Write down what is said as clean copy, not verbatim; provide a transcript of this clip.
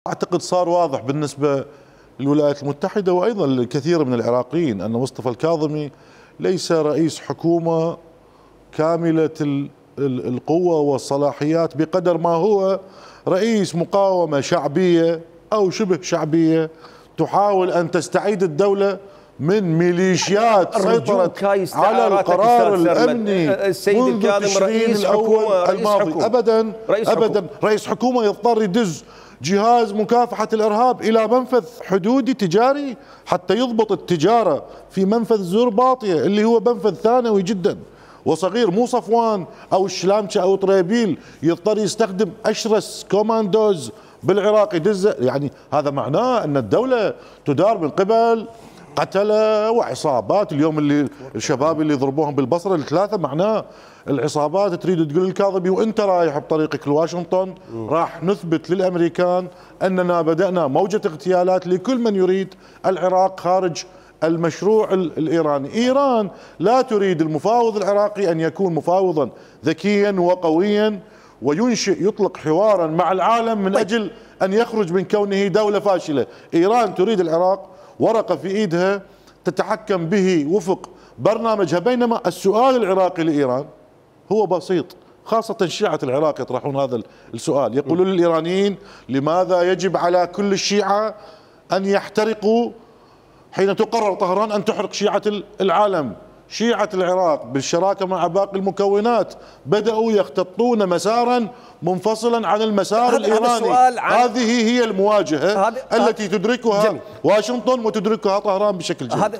أعتقد صار واضح بالنسبة للولايات المتحدة وأيضا للكثير من العراقيين أن مصطفى الكاظمي ليس رئيس حكومة كاملة القوة والصلاحيات بقدر ما هو رئيس مقاومة شعبية أو شبه شعبية تحاول أن تستعيد الدولة من ميليشيات سيطرت على القرار الأمني السيد الكاظم رئيس حكومة الماضي. أبدا رئيس حكومة يضطر يدز جهاز مكافحة الإرهاب إلى منفذ حدودي تجاري حتى يضبط التجارة في منفذ زرباطية اللي هو منفذ ثانوي جدا وصغير، مو صفوان أو الشلامشة أو طريبيل يضطر يستخدم أشرس كوماندوز بالعراق يدز. يعني هذا معناه أن الدولة تدار من قبل قتلة وعصابات. اليوم اللي الشباب اللي ضربوهم بالبصرة الثلاثة معناه العصابات تريد تقول الكاظمي وانت رايح بطريقك لواشنطن راح نثبت للامريكان اننا بدأنا موجة اغتيالات لكل من يريد العراق خارج المشروع الايراني. ايران لا تريد المفاوض العراقي ان يكون مفاوضا ذكيا وقويا وينشئ يطلق حوارا مع العالم من اجل ان يخرج من كونه دولة فاشلة. ايران تريد العراق ورقة في ايدها تتحكم به وفق برنامجها، بينما السؤال العراقي لإيران هو بسيط، خاصة شيعة العراق يطرحون هذا السؤال، يقولون للإيرانيين لماذا يجب على كل الشيعة أن يحترقوا حين تقرر طهران أن تحرق شيعة العالم؟ شيعة العراق بالشراكة مع باقي المكونات بدأوا يختطون مسارا منفصلا عن المسار الإيراني. هذه هي المواجهة التي تدركها واشنطن وتدركها طهران بشكل جيد.